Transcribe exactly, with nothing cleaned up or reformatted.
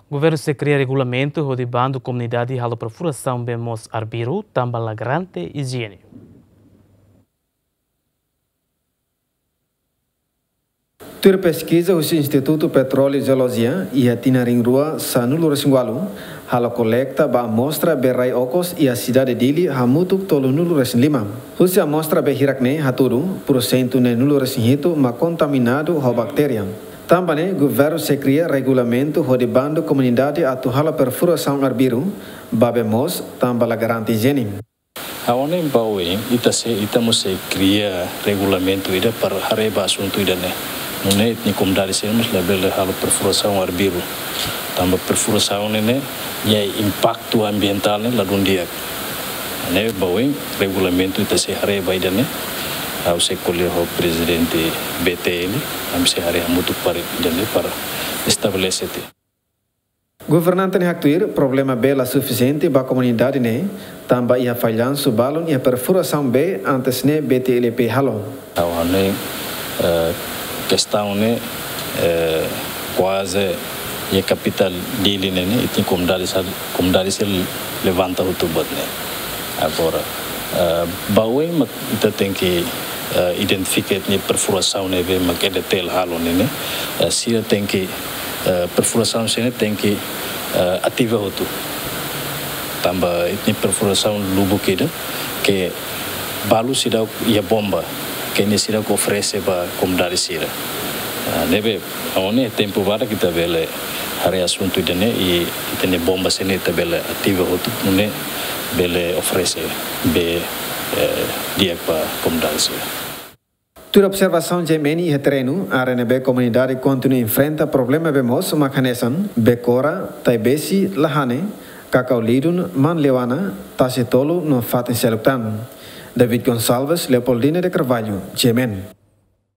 Governu sei kria regulamentu hodi bandu komunidade halo perfurasaun bee moos arbiru tanba la garante ijiene. Tuir peskiza husi Institutu Petróleu i Jeolojia, iha tinan rihun rua sanulu-resin-ualu, halo kolekta ba amostra bee rai okos iha sidade Dili hamutuk tolunulu-resin-lima. Husi amostra bee hirak ne'e hatudu, pursentu neenulu-resin-hitu mak kontaminadu ho baktéria. Tanba ne'e, governu sei kria regulamentu hodi bandu komunidade atu halo perfurasaun arbiru ba bee moos tanba la garante ijiene. Ha'u hanoin ba oin, ita sei, ita mós sei kria regulamentu ida para haree ba asuntu ida-ne'e. Nune'e ita-nia komunidade sira mós labele halo perfurasaun arbiru. Tanba perfurasaun ne'e, ne'e, nia impaktu ambientál ne'e ladún di'ak. Ne'e ba oin regulamentu ita sei haree ba ida-ne'e. Ha'u sei ko'alia ho prezidente B T L, ami sei haree hamutuk para ida-ne'e para estabelese tiha. Governante ne'e haktuir, problema bee la sufisiente ba komunidade ne'e, tanba iha fallansu balun iha perfurasaun bee antes ne'e B T L P halo. Ha'u hanoin, eh, kestaun ne'e, eh, kuaze iha kapitál Dili ne'e, ne'e, ita-nia komunidade sira, komunidade sira levanta hotu buat ne'e. Agora, eh, ba oin mak ita tenke, eh, identifika ita-nia perfurasaun ne'ebé mak EDTL halo ne'e, ne'e, eh, sira tenke, eh, perfurasaun sira-ne'e tenke, eh, ativa hotu. Tanba ita-nia perfurasaun lubuk ida ke balu seidauk iha bomba, ke nia seidauk oferese ba komunidade sira. Ah, ne'ebé, ha'u hanoin tempu badak ita bele haree asuntu ida-ne'e, i ita-nia bomba sira-ne'e ita bele ativa hotu, nune'e bele oferese bee, eh, di'ak ba komunidade sira. Tuir observasaun G M N iha terrenu, área ne'ebé komunidade kontinua enfrenta problema bee moos mak hanesan Bekora, Taibesi, Lahane, Kakau Lidun, Manleuana, Tasi Tolu no fatin seluk tan. David Gonçalves, Leopoldina de Carvalho, G M N.